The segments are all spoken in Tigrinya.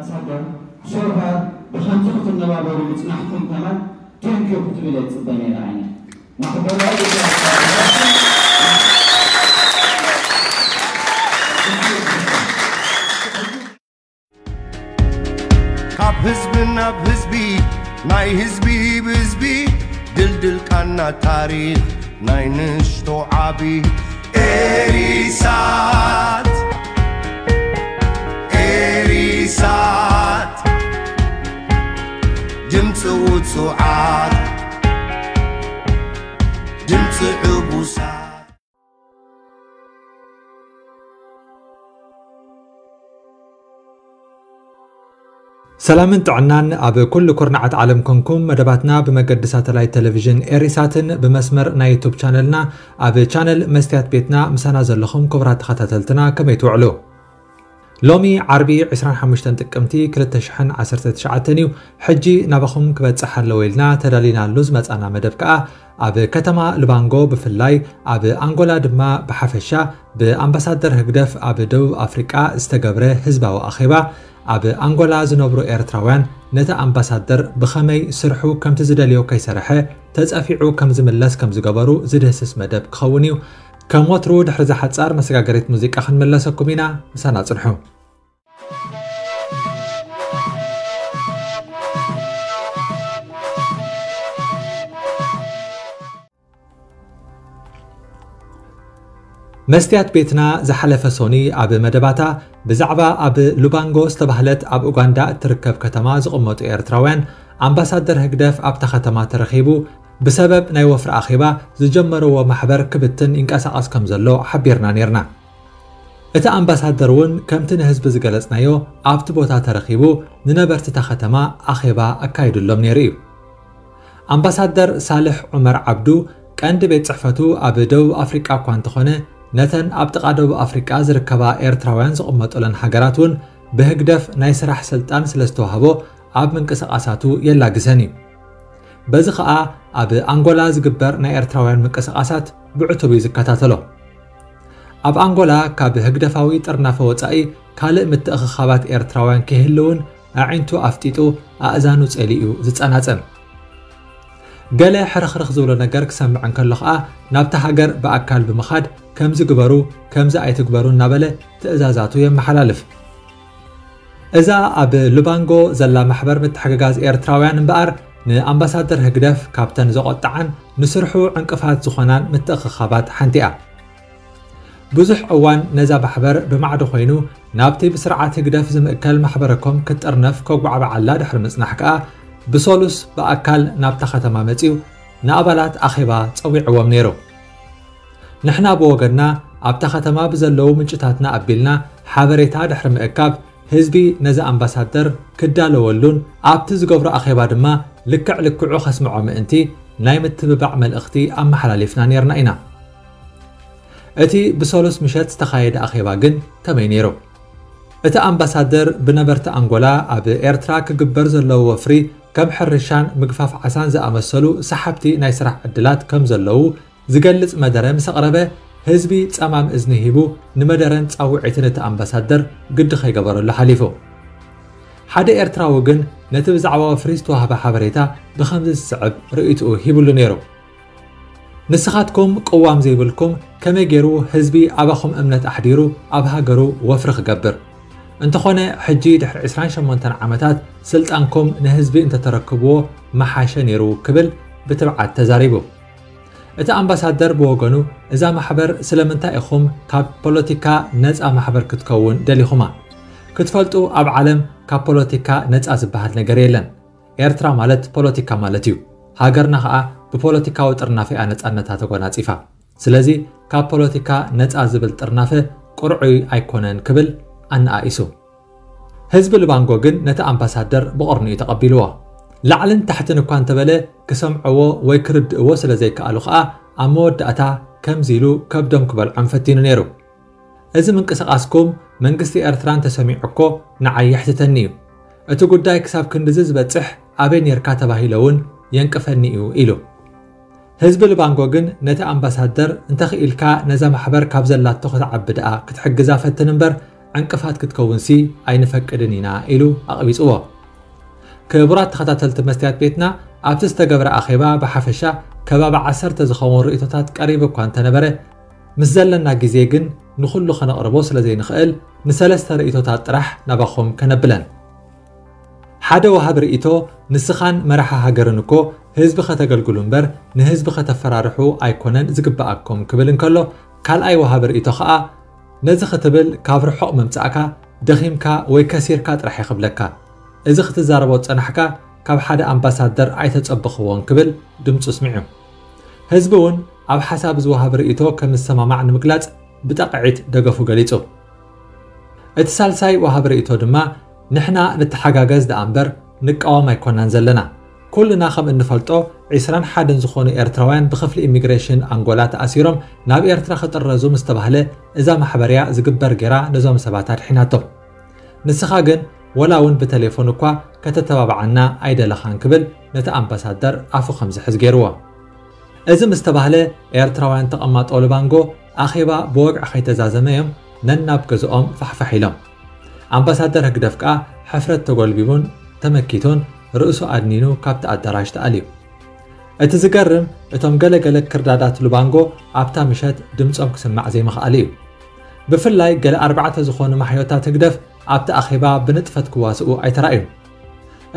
ኣምባሳደር፣ so far ብኸምዚ ክትነባበሩ ምጽናሕኩም ከማን thank you ክትብል እየ ዝጽበ ነይረ። ኣነ ማሕበራዊ ካብ ህዝቢ ናብ ህዝቢ፣ ናይ ህዝቢ ብህዝቢ፣ ድልድል ቃና ታሪኽ ናይ ንእሽቶ ዓቢ። ኤሪሳት፣ ኤሪሳት፣ ድምፂ ውፁዓት፣ ድምፂ ዕቡሳት። ሰላምን ጥዕናን ኣብ ኩሉ ኩርናዓት ዓለም ኮንኩም። መደባትና ብመገዲ ሳተላይት ቴሌቪዥን ኤሪሳትን ብመስመር ናይ ዩቱብ ቻነልና ኣብ ቻነል መስትያት ቤትና ምሳና ዘለኹም ክቡራት ተኸታተልትና ከመይ ትውዕሉ? ሎሚ ዓርቢ ዕስራን ሓሙሽተን ጥቅምቲ ክልተ ሽሕን ዓሰርተ ትሽዓተን እዩ። ሕጂ ናባኹም ክበጽሕ ኣለዎ ኢልና ተዳሊናሉ ዝመጻና መደብ ከኣ ኣብ ከተማ ልባንጎ ብፍላይ ኣብ ኣንጎላ ድማ ብሓፈሻ ብኣምባሳደር ህግደፍ ኣብ ደቡብ ኣፍሪቃ ዝተገብረ ህዝባዊ ኣኼባ ኣብ ኣንጎላ ዝነብሩ ኤርትራውያን ነቲ ኣምባሳደር ብኸመይ ስርሑ ከምቲ ዝደልዮ ከይሰርሐ ተጸፊዑ ከም ዝምለስ ከም ዝገበሩ ዝድህስስ መደብ ክኸውን እዩ። ከም ወትሩ ድሕሪ እዛ ሓጻር መሰጋገሪት ሙዚቃ ክንምለሰኩም ኢና። ምሳና ጽንሑ። መስትያት ቤትና ዝሓለፈ ሶኒ ኣብ መደባታ ብዛዕባ ኣብ ሉባንጎ ዝተባህለት ኣብ ኡጋንዳ እትርከብ ከተማ ዝቕመጡ ኤርትራውያን ኣምባሳደር ህግደፍ ኣብታ ከተማ ተረኺቡ ብሰበብ ናይ ወፍሪ ኣኼባ ዝጀመርዎ ማሕበር ክብትን ይንቀሳቐስ ከም ዘሎ ሓቢርና ነይርና። እቲ ኣምባሳደር እውን ከምቲ ንህዝቢ ዝገለጽናዮ ኣብቲ ቦታ ተረኺቡ ንነበርቲ እታ ከተማ ኣኼባ ኣካይዱሎም ነይሩ እዩ። ኣምባሳደር ሳልሕ ዑመር ዓብዱ ቀንዲ ቤት ጽሕፈቱ ኣብ ደቡብ ኣፍሪቃ እኳ እንተኾነ ነተን ኣብ ጥቓ ደቡብ ኣፍሪቃ ዝርከባ ኤርትራውያን ዝቕመጡለን ሃገራት እውን ብህግደፍ ናይ ስራሕ ስልጣን ስለ ዝተዋህቦ ኣብ ምንቅስቓሳቱ የላግሰን እዩ። በዚ ኸኣ ኣብ ኣንጎላ ዝግበር ናይ ኤርትራውያን ምንቅስቓሳት ብዕቱብ እዩ ዝከታተሎ። ኣብ ኣንጎላ ካብ ህግደፋዊ ጥርናፈ ወጻኢ ካልእ ምትእኽኻባት ኤርትራውያን ክህልውን ኣዒንቱ ኣፍጢጡ ኣእዛኑ ጸሊኡ ዝጸናጸን። ገለ ሕርኽርኽ ዝብሎ ነገር ክሰምዕ እንከሎ ኸኣ ናብታ ሃገር ብኣካል ብምኻድ ከምዚ ግበሩ ከምዚ ኣይትግበሩ እናበለ ትእዛዛቱ የመሓላልፍ። እዛ ኣብ ሉባንጎ ዘላ ማሕበር ምትሕግጋዝ ኤርትራውያን እምበኣር ንኣምባሳደር ህግደፍ ካብተን ዘቖጥዓን ንስርሑ ዕንቅፋት ዝኾናን ምትእኽኻባት ሓንቲ እያ። ብዙሕ እዋን ነዛ ማሕበር ብማዕዶ ኮይኑ ናብቲ ብስርዓት ህግደፍ ዝምእከል ማሕበረኮም ክትጥርነፍ ከጓዕብዓላ ድሕሪ ምጽናሕ ከኣ ብሰሉስ ብኣካል ናብታ ከተማ መጺኡ ንኣባላት ኣኼባ ጸዊዕዎም ነይሩ። ንሕና ብወገንና ኣብታ ከተማ ብዘለዉ ምንጭታትና ኣቢልና ሓበሬታ ድሕሪ ምእካብ ህዝቢ ነዚ ኣምባሳደር ክዳለወሉን ኣብቲ ዝገብሮ ኣኼባ ድማ ልክዕ ልክዑ ከስምዖ ምእንቲ ናይ ምትብባዕ መልእኽቲ ኣመሓላሊፍና ነይርና ኢና። እቲ ብሰሉስ ምሸት ዝተኻየደ ኣኼባ ግን ከመይ ነይሩ? እቲ ኣምባሳደር ብነበርቲ ኣንጎላ ኣብ ኤርትራ ክግበር ዘለዎ ወፍሪ ከም ሕርሻን ምግፋፍ ዓሳን ዝኣመሰሉ ሰሓብቲ ናይ ስራሕ ዕድላት ከም ዘለዉ ዝገልጽ መደረ ምስ ኣቕረበ ህዝቢ ጸማም እዝኒ ሂቡ ንመደረን ጻውዒትን እቲ ኣምባሳደር ግዲ ከይገበረሉ ሓሊፉ። ሓደ ኤርትራዊ ግን ነቲ ብዛዕባ ወፍሪ ዝተዋህበ ሓበሬታ ብኸምዚ ዝስዕብ ርእይትኡ ሂብሉ ነይሩ። ንስኻትኩም ቅዋም ዘይብልኩም ከመይ ገይሩ ህዝቢ ኣባኹም እምነት ኣሕዲሩ ኣብ ሃገሩ ወፍሪ ክገብር? እንተኾነ ሕጂ ድሕሪ ዕስራን ሸሞንተን ዓመታት ስልጣንኩም ንህዝቢ እንተተረክብዎ ምሓሸ ነይሩ ክብል ብትብዓት ተዛሪቡ። እቲ ኣምባሳደር ብወገኑ እዛ ማሕበር ስለምንታይ ኢኹም ካብ ፖለቲካ ነፃ ማሕበር ክትከውን ደሊኹማ? ክትፈልጡ ኣብ ዓለም ካብ ፖለቲካ ነፃ ዝበሃል ነገር የለን። ኤርትራ ማለት ፖለቲካ ማለት እዩ። ሃገርና ኸኣ ብፖለቲካዊ ጥርናፈ እያ ነፃነታ ተጎናጺፋ። ስለዚ ካብ ፖለቲካ ነፃ ዝብል ጥርናፈ ቅርዑይ ኣይኮነን ክብል ኣነኣኢሱ። ህዝቢ ልባንጎ ግን ነቲ ኣምባሳደር ብቕርኒኡ ተቐቢልዎ። ላዕልን ታሕትን እኳ እንተበለ ክሰምዕዎ ወይ ክርድእዎ ስለ ዘይከኣሉ ኸኣ ኣብ መወዳእታ ከምዚ ኢሉ ከብዶም ክበልዖም ፈቲኑ ነይሩ። እዚ ምንቅስቓስኩም መንግስቲ ኤርትራ እንተሰሚዑ እኮ ንዓይ የሕትተኒ እዩ። እቲ ጉዳይ ክሳብ ክንድዚ ዝበጽሕ ኣበይ ኔርካ ተባሂለ እውን የንቅፈኒ እዩ ኢሉ። ህዝቢ ልባንጎ ግን ነቲ ኣምባሳደር እንተኽኢልካ ነዛ ማሕበር ካብ ዘላቶ ክትዓቢ ደኣ ክትሕግዛ ፈትን እምበር ዕንቅፋት ክትከውንሲ ኣይንፈቅድን ኢና ኢሉ ኣቕቢጽዎ። ክቡራት ተኸታተልቲ መስትያት ቤትና፣ ኣብቲ ዝተገብረ ኣኼባ ብሓፈሻ ከባቢ ዓሰርተ ዝኸውን ርእይቶታት ቀሪቡ እኳ እንተነበረ፣ ምስ ዘለና ግዜ ግን ንኹሉ ከነቕርቦ ስለ ዘይንኽእል፣ ንሰለስተ ርእይቶታት ጥራሕ ናባኹም ከነብለን። ሓደ ወሃቢ ርእይቶ፣ ንስኻን መራሒ ሃገርን እኮ ህዝቢ ከተገልግሉ እምበር ንህዝቢ ከተፈራርሑ ኣይኮነን ዝግብኣኩም ክብል እንከሎ፣ ካልኣይ ወሃቢ ርእይቶ ኸኣ፣ ነዚ ክትብል ካብ ርሑቕ ምምጻእካ ደኺምካ ወይ ከሲርካ ጥራሕ እየ ክብለካ። እዚ ክትዛረቦ ዝጸናሕካ ካብ ሓደ ኣምባሳደር ኣይተጸበኽዎን ክብል ድምጹ ኣስሚዑ። ህዝቢ እውን ኣብ ሓሳብ እዚ ወሃቢ ርእይቶ ከም ዝሰማማዕ ንምግላጽ ብጠቕዒት ደገፉ ገሊጹ። እቲ ሳልሳይ ወሃቢ ርእይቶ ድማ፣ ንሕና ንተሓጋገዝ ደኣ እምበር ንቃወም ኣይኮናን ዘለና። ኩልና ከም እንፈልጦ፣ ዒስራን ሓደን ዝኾኑ ኤርትራውያን ብክፍሊ ኢሚግሬሽን ኣንጎላ ተኣሲሮም ናብ ኤርትራ ክጥረዙ ምስ ተባህለ፣ እዛ ማሕበርያ ዝግበር ጌራ ነዞም ሰባት ኣድሒናቶም። ንስኻ ግን ወላ እውን ብተሌፎን እኳ ከተተባብዓና ኣይደለኻን ክብል ነቲ ኣምባሳደር ኣፉ ከም ዝሕዝ ገይርዎ። እዚ ምስ ተባህለ፣ ኤርትራውያን ተቐማጦ ሉባንጎ ኣኼባ ብወግዒ ከይተዛዘመ እዮም ነናብ ገዝኦም ፋሕፋሕ ኢሎም። ኣምባሳደር ህግደፍ ከኣ ሕፍረት ተጎልቢቡን ተመኪቱን ርእሱ ኣድኒኑ ካብቲ ኣዳራሽ ተኣልዩ። እቲ ዝገርም፣ እቶም ገለገለ ክርዳዳት ሉባንጎ ኣብታ ምሸት ድምጾም ክስማዕ ዘይምኽኣሉ እዩ። ብፍላይ ገለ ኣርባዕተ ዝኾኑ ማሕዮታት ህግደፍ ኣብቲ ኣኼባ ብንጥፈት ክዋስኡ ኣይተራእዩን።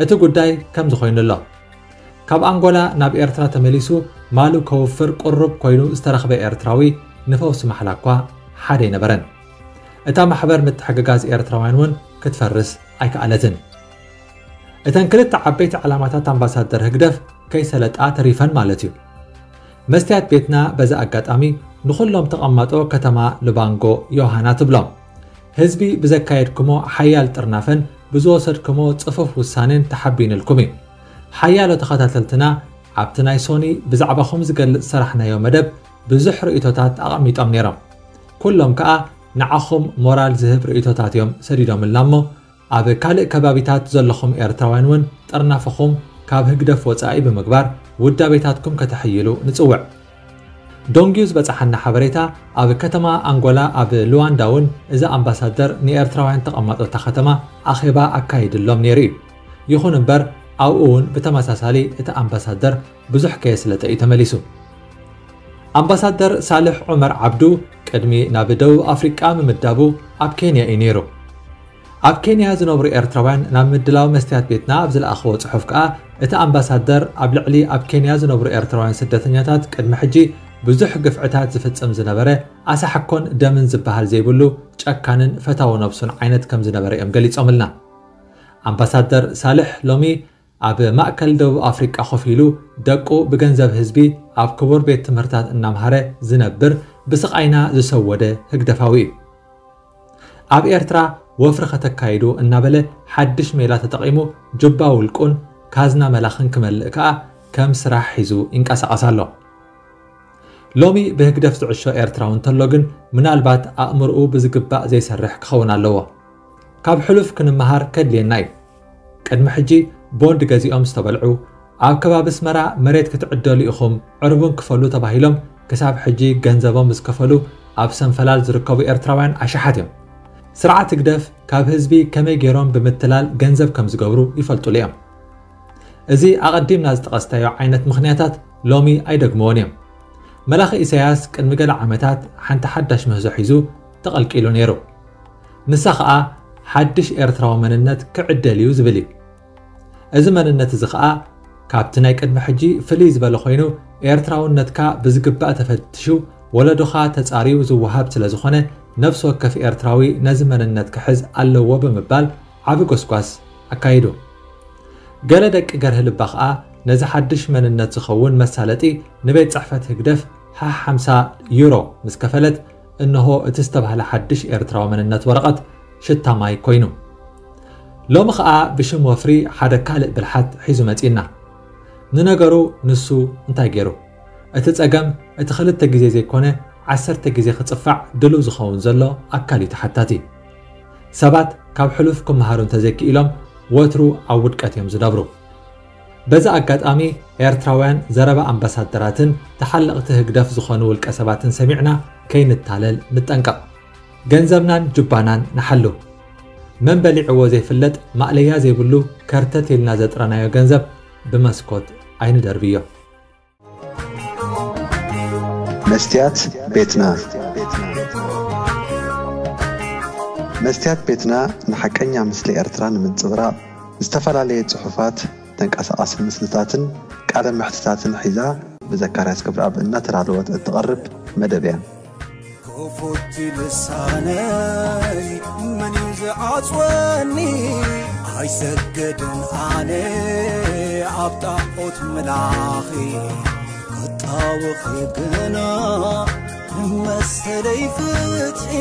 እቲ ጉዳይ ከምዚ ኮይኑ ኣሎ። ካብ ኣንጎላ ናብ ኤርትራ ተመሊሱ ማሉ ከውፍር ቅሩብ ኮይኑ ዝተረኽበ ኤርትራዊ ንፈውሲ ማሕላ እኳ ሓደ ኣይነበረን። እታ ማሕበር ምትሕግጋዝ ኤርትራውያን እውን ክትፈርስ ኣይከኣለትን። እተን ክልተ ዓበይቲ ዕላማታት ኣምባሳደር ህግደፍ ከይሰለጣ ተሪፈን ማለት እዩ። መስትያት ቤትና በዚ ኣጋጣሚ ንኹሎም ተቐማጦ ከተማ ሉባንጎ ዮሃና ትብሎም። ህዝቢ ብዘካየድኩሞ ሓያል ጥርናፈን ብዝወሰድኩሞ ጽፉፍ ውሳኔን ተሓቢንልኩም እዩ። ሓያሎ ተኸታተልትና ኣብቲ ናይ ሶኒ ብዛዕባኹም ዝገልጽ ሰራሕናዮ መደብ ብዙሕ ርእይቶታት ኣቐሚጦም ነይሮም። ኩሎም ከኣ ንዓኹም ሞራል ዝህብ ርእይቶታት እዮም ሰዲዶምልና እሞ፣ ኣብ ካልእ ከባቢታት ዘለኹም ኤርትራውያን እውን ጥርናፈኹም ካብ ህግደፍ ወጻኢ ብምግባር ውዳቤታትኩም ከተሕይሉ ንጽውዕ። ዶንጊዩ ዝበጽሓና ሓበሬታ፣ ኣብ ከተማ ኣንጎላ ኣብ ሉዋንዳ እውን እዚ ኣምባሳደር ንኤርትራውያን ተቐማጦ እታ ከተማ ኣኼባ ኣካይድሎም ነይሩ እዩ። ይኹን እምበር ኣብኡ እውን ብተመሳሳሊ እቲ ኣምባሳደር ብዙሕ ከየስለጠ እዩ ተመሊሱ። ኣምባሳደር ሳልሕ ዑመር ዓብዱ ቅድሚ ናብ ደቡብ ኣፍሪቃ ምምዳቡ ኣብ ኬንያ እዩ ነይሩ። ኣብ ኬንያ ዝነብሩ ኤርትራውያን ናብ ምድላው መስትያት ቤትና ኣብ ዝለኣኽዎ ጽሑፍ ከኣ፣ እቲ ኣምባሳደር ኣብ ልዕሊ ኣብ ኬንያ ዝነብሩ ኤርትራውያን ስደተኛታት ቅድሚ ሕጂ ብዙሕ ግፍዕታት ዝፍጽም ዝነበረ ኣሳሕኮን ደምን ዝበሃል ዘይብሉ ጨካንን ፈታዊ ነብሱን ዓይነት ከም ዝነበረ እዮም ገሊጾምልና። ኣምባሳደር ሳልሕ ሎሚ ኣብ ማእከል ደቡብ ኣፍሪቃ ኮፍ ኢሉ ደቁ ብገንዘብ ህዝቢ ኣብ ክቡር ቤት ትምህርታት እናምሃረ ዝነብር ብስቓይና ዝሰወደ ህግደፋዊ እዩ። ኣብ ኤርትራ ወፍሪ ከተካይዱ እናበለ ሓድሽ ሜላ ተጠቒሙ ጁባ ውልቁን ካዝና መላኽን ክመልእ ከኣ ከም ስራሕ ሒዙ ይንቀሳቐስ ኣሎ። ሎሚ ብህግደፍ ዝዕሾ ኤርትራዊ እንተሎ ግን ምናልባት ኣእምርኡ ብዝግባእ ዘይሰርሕ ክኸውን ኣለዎ። ካብ ሕሉፍ ክንመሃር ከድልየና እዩ። ቅድሚ ሕጂ ቦንድ ገዚኦም ዝተበልዑ፣ ኣብ ከባቢ ኣስመራ መሬት ክትዕደሉ ኢኹም ዕርቡን ክፈሉ ተባሂሎም ክሳብ ሕጂ ገንዘቦም ዝከፈሉ ኣብ ሰንፈላል ዝርከቡ ኤርትራውያን ኣሽሓት እዮም። ስርዓት ህግደፍ ካብ ህዝቢ ከመይ ገይሮም ብምትላል ገንዘብ ከም ዝገብሩ ይፈልጡሉ እዮም። እዚ ኣቐዲምና ዝጠቐስናዮ ዓይነት ምኽንያታት ሎሚ ኣይደግምዎን እዮም። መላኺ ኢሳያስ ቅድሚ ገለ ዓመታት ሓንቲ ሓዳሽ ምህዞ ሒዙ ተቐልቂሉ ነይሩ። ንሳ ኸኣ ሓድሽ ኤርትራዊ መንነት ክዕደል እዩ ዝብል እዩ። እዚ መንነት እዚ ኸኣ ካብቲ ናይ ቅድሚ ሕጂ ፍልይ ዝበለ ኮይኑ፣ ኤርትራውነትካ ብዝግባእ ተፈትሹ፣ ወለዶኻ ተጻርዩ ዝወሃብ ስለ ዝኾነ፣ ነፍሲ ወከፍ ኤርትራዊ ነዚ መንነት ክሕዝ ኣለዎ ብምባል ዓቢ ጎስጓስ ኣካይዱ። ገለ ደቂ ገርሂ ልባ ኸኣ ነዚ ሓድሽ መንነት ዝኸውን መሳለጢ ንቤት ጽሕፈት ህግደፍ ሓ ሓምሳ ዩሮ ምስ ከፈለት፣ እንሆ እቲ ዝተባህለ ሓድሽ ኤርትራዊ መንነት ወረቐት ሽታ ማይ ኮይኑ። ሎሚ ኸኣ ብሽም ወፍሪ ሓደ ካልእ ብልሓት ሒዙ መጺእና። ንነገሩ ንሱ እንታይ ገይሩ? እቲ ጸገም እቲ ክልተ ግዜ ዘይኮነ ዓሰርተ ግዜ ክጽፋዕ ድሉው ዝኸውን ዘሎ ኣካል እዩ ተሓታቲ። ሰባት ካብ ሕሉፍ ክመሃሩ እንተዘይክኢሎም ወትሩ ኣብ ውድቀት እዮም ዝነብሩ። በዚ ኣጋጣሚ ኤርትራውያን ዘረባ ኣምባሳደራትን ተሓለቕቲ ህግደፍ ዝኾኑ ውልቀ ሰባትን ሰሚዕና ከይንታለል ንጠንቀቕ። ገንዘብናን ጁባናን ንሓሉ። መን በሊዕዎ ዘይፍለጥ ማእለያ ዘይብሉ ከርተት ኢልና ዘጥረናዮ ገንዘብ ብመስኮት ኣይንደርብዮ። መስትያት ቤትና። መስትያት ቤትና ንሓቀኛ ምስሊ ኤርትራ ንምንጽብራቕ ዝተፈላለየ ጽሑፋት፣ ተንቀሳቓሲ ምስልታትን ቃለ መሕትታትን ሒዛ ብዘካርያስ ክብረኣብ እናተዳለወት እትቐርብ መደብ እያ። ክፉት ልሳነይ መን እዩ ዝዓጽወኒ? ኣይሰግድን ኣነ ኣብ ጣዖት ምላኺ፣ ክጣወኺ ግና መሰለይ ፍትሒ።